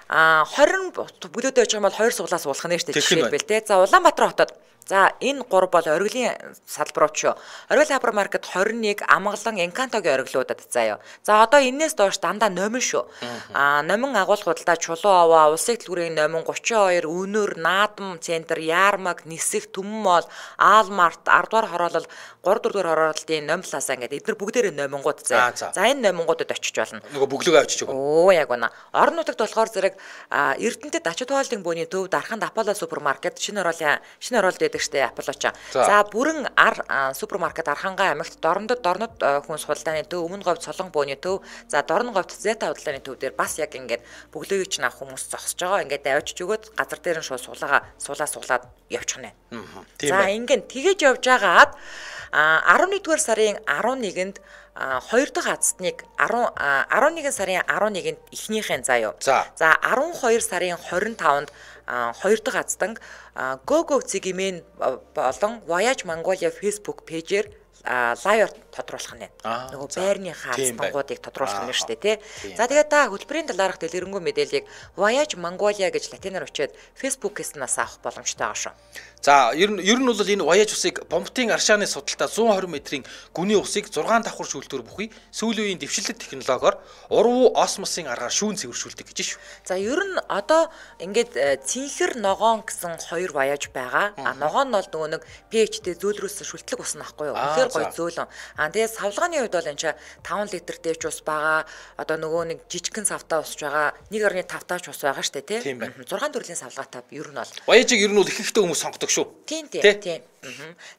20 бүлөөд байж байгаа бол 2 суглаа суулгах нэ штэ жишээлбэл те. За Улаанбаатар хотод за энэ 3 бол оргилын салбарууд шүү. Оргил хайпермаркет 21 Амгалан Encanto-гийн оргилуудад заяа. За одоо энээс доош дандаа номин шүү. Номин агуулгуудаа Чулуу аваа, Улсын дэлгүүрийн номин 32, Өнөр, Наадам центр, Яармаг, Нисэх, Түмэн моол, Аалмарт, 10 дугаар хороолол, 3 дугаар хорооллын номлаасаа ингээд эдгээр бүгдээрээ номингууд заяа. За энэ номингуудад очиж болно. Нөгөө бүглөөгөө авчиж өгнө. Оо яг байна. Орон нутагт болохоор зэрэг Эрдэнэтэд ачид хооллын бууны төв Дарханд Аполло супермаркет шинэ ороолд байдаг штэ Аполлочо. За бүрэн супермаркет Архангай аймагт Дорнод хүн суулдааны төв, Өмнө говьд Солон бууны төв, за Дорн говьд Зета худалдааны төв дээр бас яг ингээд бүглөөг чинь авах хүмүүс зогсож байгаа. Ингээд авчиж өгөөд газар дээр нь шууд суулаад явчих нь. За ингээд тэгэж явж байгаад 11-р сарын 11-нд 2 дахь азтныг 11 сарын 11-нд эхнийхэн заяа. За 12 сарын 25-нд 2 дахь азтанг GoGo цэгимэн болон Voyage Mongolia Facebook пэйжээр лайв тодруулах нь. Нөгөө байрны хаалцангуудыг тодруулах нь шүү дээ, тий. За тэгээд та хөтөлбөрийн талаарх дэлгэрэнгүй мэдээллийг Voyage Mongolia гэж латинаар өчөөд Facebook-ээс нас авах боломжтой байгаа шүү. За ер нь бол энэ Voyage усыг бомбтын аршааны судалтай 120 метрийн гүний усыг 6 давхар шүүлтүүр бүхий сүүлийн үеийн дэвшилт технологиор уруу осмосын аргаар шүүн цэвэршүүлдэг гэж шүү. За ер нь одоо ингээд цэнхэр ногоон гэсэн 2 Voyage байгаа. Ногоон нь бол нөгөө нэг pH-тэй зөөлрөөсөн шүлтлэг ус нахгүй юу? Тэгэхээр гоё зөөлөн. Тэгээд савлгааны үед бол энэ ч 5 литр дэвч ус байгаа. Одоо нөгөө нэг жижигхэн савтаа усж байгаа. 1.5 таач ус байгаа штэ тий. 6 төрлийн савлгаатай ер нь бол. Voyage-ыг ер нь бол их ихтэй хүмүүс сонгодог шүү. Тийм.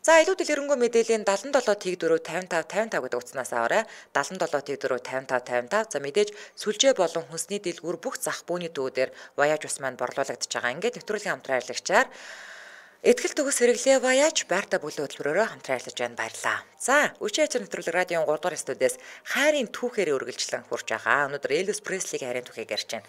За илүү дэлгэрэнгүй мэдээллийн 77 тэг 4 55 гэдэг утаснаас аваарай. 77 тэг 4 55 55. За мэдээж сүлжээ болон хүнсний дэлгүүр бүх зах бууны төвүүдээр Voyage ус маань борлуулагдаж байгаа. Ингээд нэвтрүүлгийн хамтран ажиллагчаар Этгэл төгс хэрэглээ Voyage байрта бүлээн хөтөлбөрөөр хамтран ажиллаж байна. Баярлалаа. За, Үчи ачаар нэвтрүүлэг радион 3 дугаар студиэс хайрын түүхээр үргэлжлэн хурж байгаа. Өнөөдөр Elvis Presley-ийн хайрын түүхийг ярьж байна.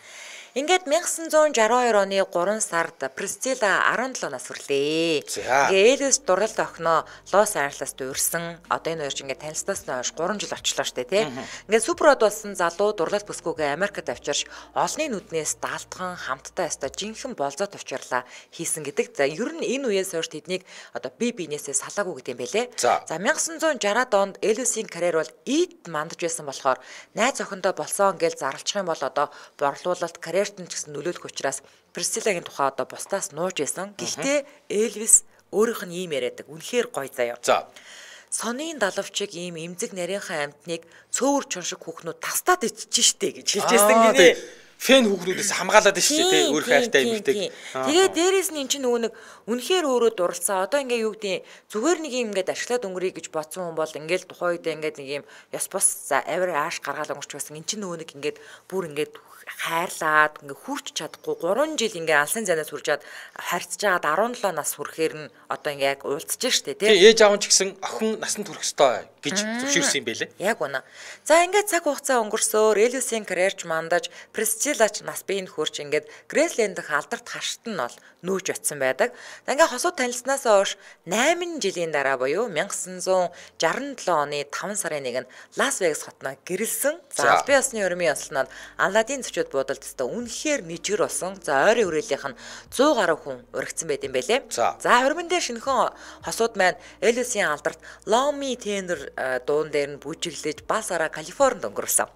Ингээд 1962 оны 3 сард Priscilla 17 нас хүрлээ. Ингээд Elvis дурлалт охиноо Лос Анжелест урьсан. Одоо энэ хоёр ч ингээд танилцсанаас хойш 3 жил очлоо штэ тий. Ингээд суперод болсон залуу дурлалт бүсгүйгээ Америкт авчирч олонний нүднээс даалтхан хамтдаа яста жинхэнэ болзоо төвчрлаа хийсэн гэдэг. За ер нь энэ үеэс хойш тэднийг одоо бие биенээсээ салаагүй гэдэг юм байлээ. За 1960-ад онд Elvis-ийн карьер бол ийд мандаж байсан болохоор найз охиндоо болсон гэж зарлчих юм бол одоо борлуулалт карьерт нь ч гэсэн нөлөөлөх учраас Priscilla-гийн тухай одоо бусдаас нууж байсан. Гэхдээ Elvis өөрийнх нь ийм яриадаг. Үнэхээр гоё заяа. За сонийн далавчиг ийм эмзэг нарийнхан амтныг цөөвөр чон шиг хүүхнүүд тастаад иччих штэ гэж хэлж байсан гинэ. Фэн хүүхнүүдээс хамгаалаад шүү дээ тий өөр хайртай эмэгтэйг. Тэгээ дээрээс нь эн чинь нөгөө нэг үнэхээр өөрөө дурлцаа. Одоо ингээ юу гэдэг зүгээр нэг юм ингээд ашиглаад өнгөрье гэж бодсон хүн бол ингээл тухайн үед ингээд нэг юм ёс бос за авир ааш гаргаал өнгөрч байсан. Эн чинь нөгөө нэг ингээд бүр ингээд хайрлаад ингээ хүрч чадахгүй 3 жил ингээ алсын занаас хүрчээд харьцаж агаад 17 нас хүрэхээр нь одоо ингээ яг уулзж штэ тий. Ээж аав ч гэсэн охин насанд хүрэх ёстой гэж зөвшөөрсөн юм байлээ. Яг үнэ. За ингээ цаг хугацаа өнгөрсөөр Elvis-ийн карьерч мандаж Priscilla-ч нас биеинд хүрч ингээ Graceland дэх алдарт хашт нь бол нүүж очсон байдаг. Ингээ хосууд танилцсанаас хойш 8 жилийн дараа буюу 1967 оны 5 сарын 1-нд Лас Вегас хотноо гэрэлсэн. За албан ёсны өрмийн ёслоноор Аладдин зочид буудалд өстө үнэхээр нийжгэр болсон. За ойрын хүрээлийнх нь 100 гаруй хүн уригдсан байт юм байлээ. За хөрмөн дээр шинэхэн хосууд маань Elvis-ийн алдарт Lomi Tender дуун дээр нь бүжиглэж Басара Калифорнид өнгөрсөн.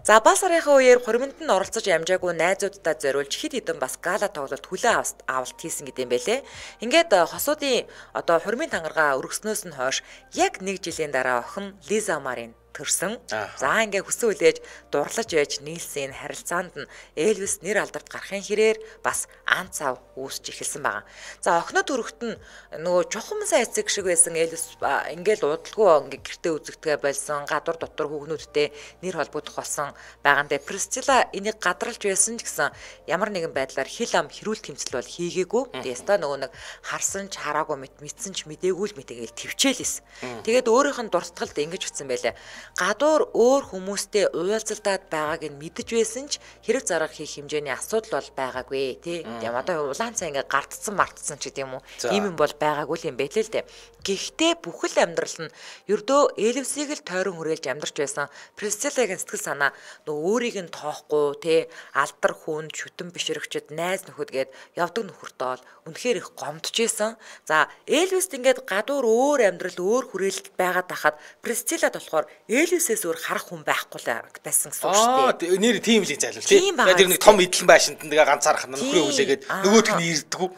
За Басарынхаа үеэр хөрмөнд нь оролцож амжаагүй найзуудтай зориулж хэд хэдэн бас гала тоглолт хүлээн авалт хийсэн гэдэг юм байлээ. Ингээд хосуудын одоо хөрмийн тангаргаа өргөснөөс нь хойш яг 1 жилийн дараа охин Лиза Марин төрсөн. За ингээ хүсэн үлээж дурлаж байж нийлсэн харилцаанд нь Элвис нэр алдарт гарахын хэрээр бас ан цав үүсч эхэлсэн байгаа. За охиноо төрөхт нь нөгөө чухам сайн эцэг шиг байсан Элвис ингээл удалгүй ингээ гэртээ үзэгдэгэ болсон, гадуур дотор хүүхнүүдтэй нэр холбогдох болсон байгаандаа Присцилла энийг гадралж байсан ч гэсэн ямар нэгэн байдлаар хил ам хэрүүл тэмцэл бол хийгээгүй. Тэгээс та нөгөө нэг харсан ч хараагүй мэдсэн ч мдээгүй л мэтэгээл төвчээлсэн. Тэгээд өөрийнх нь дуртгалд ингэж утсан байлаа. Гадуур өөр хүмүүстэй уулзалдаад байгааг нь мэдэж байсан ч хэрэг зарга хийх хэмжээний асуудал бол байгаагүй тий. Тийм одоо улаан цай ингээ гардцсан мартцсан ч гэдэм үү. Ийм юм бол байгаагүй юм байлээ л дээ. Гэхдээ бүхэл амьдрал нь ердөө Элвисийг л тойрон хүрээлж амьдарч байсан Присциллагийн сэтгэл санаа нөгөө өөрийг нь тоохгүй тий алдар хүн шүтэн бишрэгчд найз нөхөд гээд явдаг нөхөртөө бол үнэхээр их гомдож исэн. За Элвист ингээд гадуур өөр амьдрал өөр хүрээлэлд байгаад тахад Присциллад болохоор Элвисээс өөр харах хүн байхгүй байсан гэсэн үг шүү дээ. Нэр тийм л зайлвал тий. Тэр нэг том эдлэн байшинд нэгэ ганцаарх нөхрөө хүлээгээд нөгөөх нь ирдэггүй.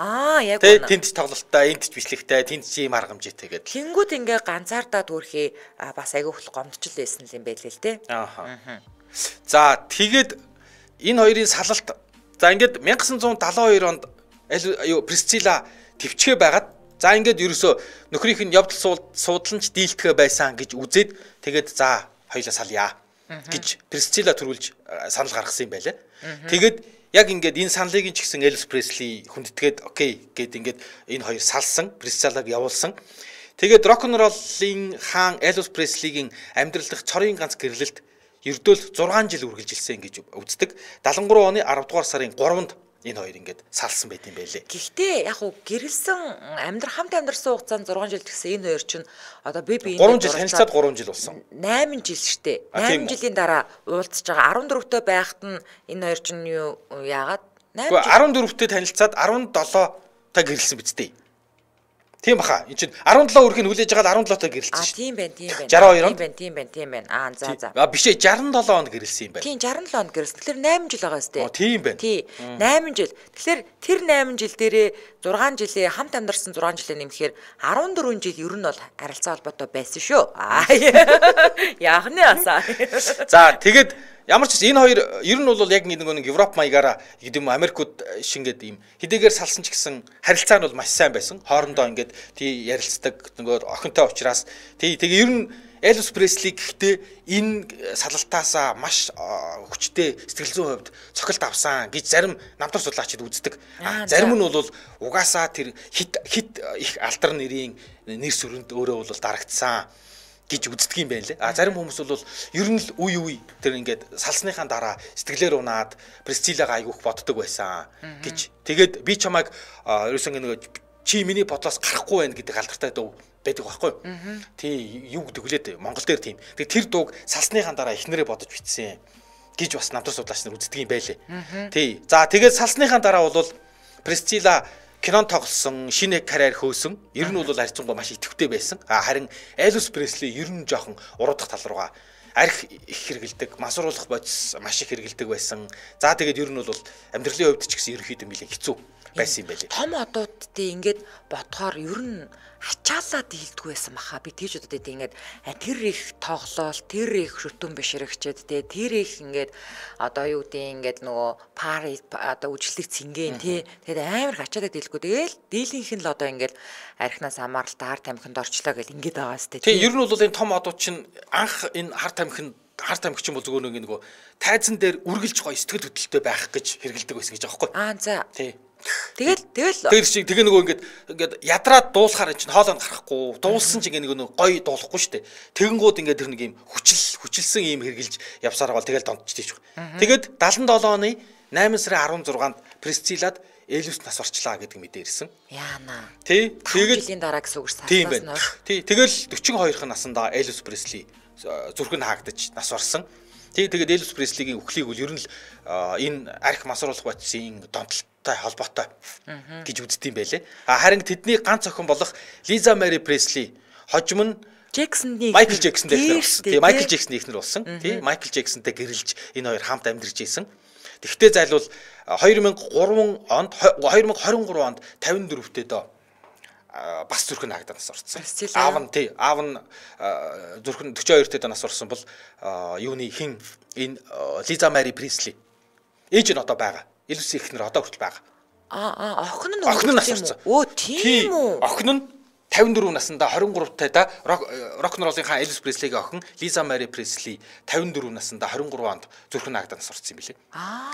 Яг тий тэнд ч тоглолттой, энд ч бичлэгтэй, тэнд ч ийм аргамжтай гэдэг. Тэнгүүд ингээ ганцаардаад өөрхий бас айгүй хөл гомдчл байсан юм байлээ л тий. За тэгээд энэ хоёрын салалт за ингээд 1972 онд Присцилла төвчгээ байгаад за ингээд ерөөсөө нөхрийнх нь явдал суудланч дийлдэхэ байсан гэж үзээд тэгээд за хоёлаа салъя гэж Присцилла төрүүлж санал гаргасан юм байлаа. Тэгээд яг ингээд энэ саналыг ч гэсэн Элвис Пресли хүндэтгээд окей гэд ингээд энэ хоёр салсан, Присциллаг явуулсан. Тэгээд рок-н-роллын хаан Элвис Преслигийн амьдрал дахь цорын ганц гэрлэлт ердөөл 6 жил үргэлжилсэн гэж үздэг. 73 оны 10 дугаар сарын 3-нд энэ хоёр ингээд салсан байт юм байлээ. Гэхдээ яг уу гэрэлсэн хамт амьдрсан хугацаанд 6 жил гэсэн энэ хоёр чинь одоо би 3 жил танилцаад 3 жил болсон. 8 жил штэ. 8 жилийн дараа уулзж байгаа 14-тэй байхад нь энэ хоёр чинь юу яагаад 8 жил 14-тэй танилцаад 17-тай гэрэлсэн биз дээ. Тийм баха. Энд чинь 17 өрхийг хүлээж байгаа 17-той гэрэлсэн шүү. Тийм байна, тийм байна. 62 онд. Тийм байна. За. Биш ээ 67 онд гэрэлсэн юм байна. Тийм 67 онд гэрэлсэн. Тэгэхээр 8 жил байгаа сте. Тийм байна. Тий. 8 жил. Тэгэхээр тэр 8 жил дээрээ 6 жилийн хамт амьдарсан 6 жилээ нэмэхээр 14 жил ер нь бол харилцаа холбоотой байсан шүү. Яах нь асаа. За тэгээд ямар ч энэ хоёр ер нь бол яг нэг Европ маягаараа гэдэг юм Америкууд шингээд ийм хэдийгээр салсан ч гэсэн харилцаа нь бол маш сайн байсан. Хоорондоо ингээд тий ярилцдаг нөгөө охинтой уулзраас тэгээ ер нь Элвис Пресли гэхдээ энэ салалтаасаа маш хүчтэй сэтгэл зүйн хувьд цохилт авсан гэж зарим намтар судлаачид үздэг. Зарим нь бол угаасаа тэр хит их алдар нэрийн нэр сүрэнд өөрөө бол дарагдсан гэж үздэг юм байна лээ. Зарим хүмүүс бол ер нь л үе тэр ингээд салсныхаа дараа сэтгэлээр унаад Присциллагаа айгүйх боддог байсан гэж. Тэгээд би чамайг ерөөсөн нэг чи миний подлоос гарахгүй байна гэдэг алдартай дуу байдаг байхгүй юу? Тий юу гэдэг хүлээд Монгол дээр тийм. Тэгээд тэр дууг салсныхаа дараа эхнэрээ бодож бичсэн гэж бас намтар судлаач нар үздэг юм байлээ. Тий. За тэгээд салсныхаа дараа бол Присцилла кинон тоглосон, шинэ карьер хөөсөн. Ер нь бол харьцангуй маш идэвхтэй байсан. Харин Элвис Пресли ер нь жоохон уруудах тал руугаа арх их хэрэгэлдэг, масруулах бодис маш их хэрэгэлдэг байсан. За тэгээд ер нь бол амьдралын хувьд ч гэсэн ерөнхийдөө нэлээд хэцүү байсан юм байлээ. Том одуудтай ингээд бодохоор ер нь ачаалаад дийлдэг байсан баха. Би тийж удаад ингээд тэр их тоглоол, тэр их шүтэн бишрэгчэд тэр их ингээд одоо юу гэдэг ингээд нөгөө пари одоо үжиглэг цэнгэн тэгээд амар ачаалаад дийлэхгүй. Тэгэл дийлийнх нь л одоо ингээд архинаас амааралтай хар тамхинд орчлоо гэл ингээд байгаа сте. Тийм ер нь бол энэ том одууд чинь анх энэ хар тамхич юм бол зүгээр нэг тайзан дээр үргэлж гоё сэтгэл хөдлөлтөй байх гэж хэрэгэлдэг байсан гэж байгаа байхгүй. За. Тий. Тэгээ нөгөө ингээд ядраад дуулахаар чинь хоолойнд гарахгүй дуулсан чинь нэг гоё дуулахгүй штэ. Тэгэнгүүт ингээд тэр нэг юм хүчилсэн юм хэрглэж явсараа бол тэгэл донтчихдээ. Тэгээд 77 оны 8 сарын 16-нд Присциллад Элвис нас орчлаа гэдэг мэдээ ирсэн. Яана. Тий. Тэгээд жилийн дараа гэсэн үг шүү. Тийм байна. Тий. Тэгэл 42 наснда Элвис Пресли зүрх нь хаагдаж нас орсон. Тэгээд Элвис Преслигийн үхлийг үл ер нь л энэ арх масруулах бодисын донтолтой холбоотой гэж үздэг юм байлээ. Харин тэдний ганц охин болох Лиза Мэри Пресли хожим нь Майкл Джексонтэй эхнэр болсон. Тийм Майкл Джексоны эхнэр болсон. Тийм Майкл Джексонтэй гэрэлж энэ хоёр хамт амьдарч ийсэн. Тэгвэл зайлвал 2020 онд 54 онд 54-т доо бас зүрхэн хаагдаад нас орсон. Присцилла. Аав нь зүрхэн 42 дэх нас орсон бол юуны хин энэ Лиза Мари Пресли. Ээж нь одоо байгаа. Элвис ихнэр одоо хүртэл байгаа. Охин нь нас орсон. Өө тийм үү. Охин нь 54 наснда 23 тайда рок н роллынхаа Элвис Преслигийн охин Лиза Мари Пресли 54 наснда 23 онд зүрхэн хаагдаад нас орсон юм билээ.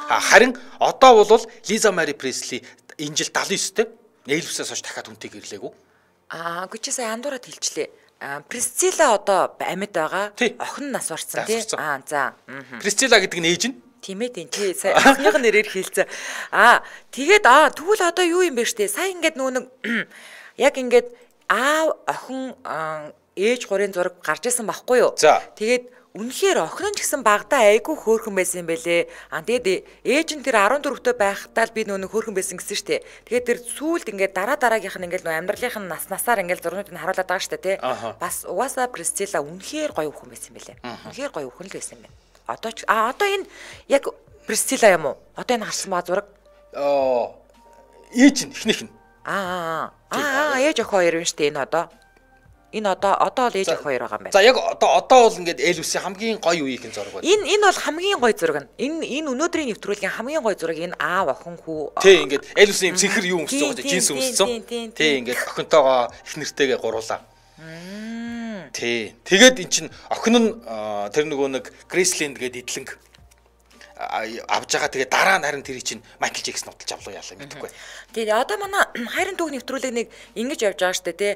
Харин одоо бол Лиза Мари Пресли энэ жил 79-тэй Элвисээс хойш дахиад хүнтэй гэрлээгүй. Гүчээ сая андуураад хэлчлээ. Присцилла одоо амьд байгаа. Охин нас орсон тий. За. Присцилла гэдэг нь ээж нь. Тийм ээ тий. Сая охиных нэрээр хэлцээ. Тэгээд тэгвэл одоо юу юм бэ штэ? Сая ингээд нөгөө яг ингээд аав охин ээж гурийн зураг гарч исэн байхгүй юу? Тэгээд үнэхээр охин нь ч гэсэн багтаа айгүй хөөрхөн байсан юм байлээ. Тэгээд ээж нь тэр 14-т байхдаа л би нөгөө хөөрхөн байсан гэсэн штэ. Тэгээд тэр сүүлд ингээд дараагийнх нь ингээд нөгөө амьдралынх нь насаар ингээд зурнууд нь харуулдаг байгаа штэ тий. Бас угаасаа Присцилла үнэхээр гоё өхөн байсан юм байлээ. Үнэхээр гоё өхөн л байсан юм байна. Одоо энэ яг Присцилла юм уу? Одоо энэ харсан байгаа зураг? Ээж нь эхнийх нь. Ээж охин хоёр юм штэ энэ одоо. Энэ одоо л ээж охин хоёр байгаа юм байна. За яг одоо бол ингээд Элвисийн хамгийн гоё үеийн зураг байна. Энэ бол хамгийн гоё зураг нь. Энэ өнөөдрийн нэвтрүүлгийн хамгийн гоё зураг энэ аав охин хүү. Тий ингээд Элвисийн цэнхэр юу өмссөн байгаа жинс өмссөн. Тий ингээд охинтойгоо их нэртэйгээ гуруулаа. Тий. Тэгээд эн чин охин нь тэр нөгөө нэг Грейсленд гээд идэлэнг авж байгаа. Тэгээ дараа нь харин тэр чинь Майкл Джексон удалж авлаа яалаа мэдэхгүй. Тэгээ одоо манай хайрын түүх нэвтрүүлэг нэг ингэж явж байгаа штэ тий.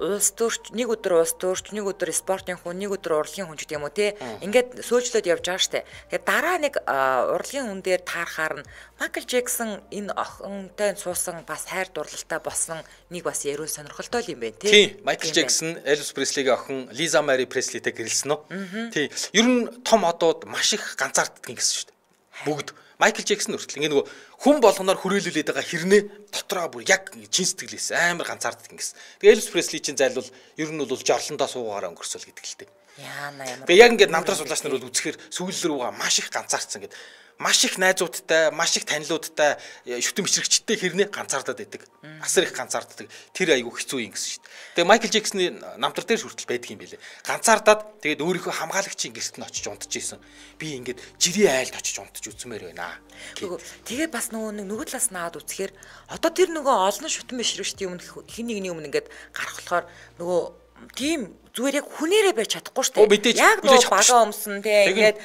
Улс төрч нэг өдөр улс төрч, нэг өдөр спортын хүн, нэг өдөр урлагийн хүн ч гэдэг юм уу тий. Ингээд сөөлжлөд явж байгаа штэ. Тэгээ дараа нэг урлагийн хүн дээр таарахаар нь Майкл Джексон энэ охинтой суусан бас хайр дурлалтай болсон нэг бас яруу сонирхолтой юм байна тий. Тий. Майкл Джексон Элвис Преслигийн охин Лиза Мари Преслитэй гэрэлсэн үү? Тий. Ер нь том одууд маш их ганцаарддаг гэсэн шүү дээ. Бүгд Майкл Джексон хүртэл ингээ нөгөө хүн болгоноор хүрээлүүлээд байгаа хэрнээ дотроо бүр яг чин сэтгэлээс амар ганцаарддаг гэсэн. Тэгээ Элвис Пресли чинь зайлвал ер нь бол жорлондоо суугаараа өнгөрсөл гэдэг л дээ. Яана ямар. Тэгээ яг ингээ намтраа сулаач нар бол үзэхээр сүүл рүүгээ маш их ганцаардсан гэдэг. Маш их найзуудтай, маш их танилуудтай, шүтэн бичрэгчтэй хэрнээ ганцаардаад байдаг. Асар их ганцаарддаг. Тэр айгүй хэцүү юм гэсэн шүү дээ. Тэгээ Майкл Джексоны намтар дээр хүртэл байдаг юм билэ. Ганцаардаад тэгээд өөрийнхөө хамгаалагчийн гэрт нь очиж унтж исэн. Би ингээд жирийн айлд очиж унтж үзмээр байна. Тэгээд бас нөгөө талаас наад үзэхээр одоо тэр нөгөө олон шүтэн бичрэгчтэй өмнө хин нэгний өмнө ингээд гарах болохоор нөгөө тийм зүгээр яг хүнээрээ байж чадахгүй шүү дээ. Яг нөгөө бага өмсөн тий ингээд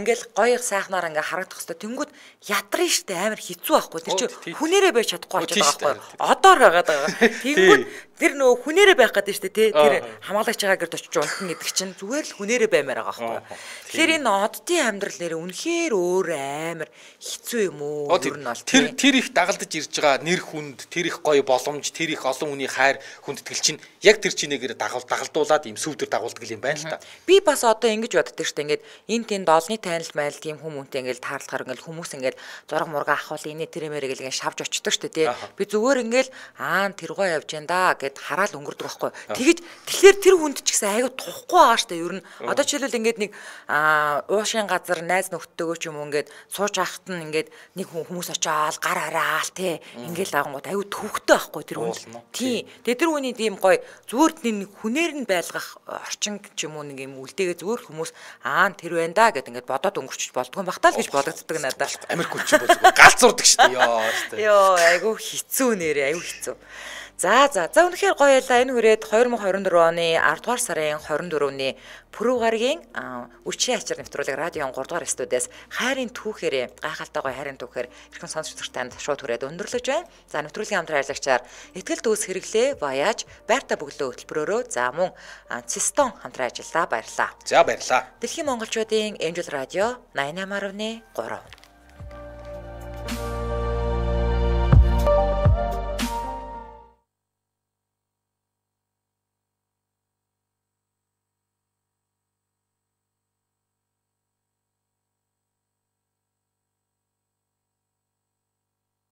ингээл гоё сайхнаар ингээ харагдах хэвээр тэнгүүд ядрын шүү дээ амар хэцүү байхгүй. Тэр чинь хүнээрээ байж чадахгүй болчиход байгаа байхгүй. Одоор байгаад байгаа. Тэнгүүд тэр нөгөө хүнээрээ байх гэдэг шүү дээ тий. Тэр хамгаалагч байгаа гэрд очиж унтна гэдэг чинь зүгээр л хүнээрээ баймаар байгаа байхгүй. Тэгэхээр энэ оддын амьдрал нэр үнэхээр өөр амар хэцүү юм уу? Ер нь бол тэр их дагалдаж ирж байгаа нэр хүнд, тэр их гоё боломж, тэр их олон хүний хайр хүндэтгэл чинь яг тэр чинээгээр дагалдуулаад ийм сүвдэр дагуулдаг юм байна л та. Би бас одоо ингэж боддог шүү дээ. Ингээд энэ тэнд олны танил майл тийм хүмүүнтэй ингээд таарлахаар ингээд хүмүүс ингээд зураг мурга ахвал энэ тэрэмэрэг ингээд шавж очдог шүү дээ тий. Би зүгээр ингээд тэргоо явж энэ да гэд хараал өнгөрдөг байхгүй. Тэгэхээр тэр хүнд ч гэсэн айгүй тухгүй байгаа шүү дээ. Ер нь одоо жишээлбэл ингээд нэг уушийн газар найз нөхдөдөө ч юм уу ингээд сууж ахт нь ингээд нэг хүмүүс очиад гар хараал тий. Ингээд агангууд айгүй төвхтэй байхгүй тэр хүн. Тий. Тэгээ тэр хүний тийм гоё зүгээр нэг хүнээр нь байлгах орчин ч юм уу нэг юм үлдээгээ зүгээр хүмүүс тэр байна да гэд ингээд бодоод өнгөрчих болдгоо багтаа л гэж бодогддог надад. Амир хүч болов. Галзуурдаг шүү дээ. Йоо айгүй хэцүү нэрээ айгүй хэцүү. За үнэхээр гоё ялла энэ хүрээд 2024 оны 10 дугаар сарын 24-ний Пүрэв гарагийн үчийн ачаар нэвтрүүлэг радион 3 дугаар студиэс хайрын түүхээр гайхалтай гоё хайрын түүхээр эрхэм сонсогчдод танд шууд хүрээд өндөрлөж байна. За нэвтрүүлгийн хамтран ажиллагчаар Итгэл төс хэрэглээ Баяж байрта бөглөө хөтөлбөрөөрөө за мөн Цистон хамтран ажиллаа баярлаа. За баярлаа. Дэлхийн монголчуудын Эмжил радио 88.3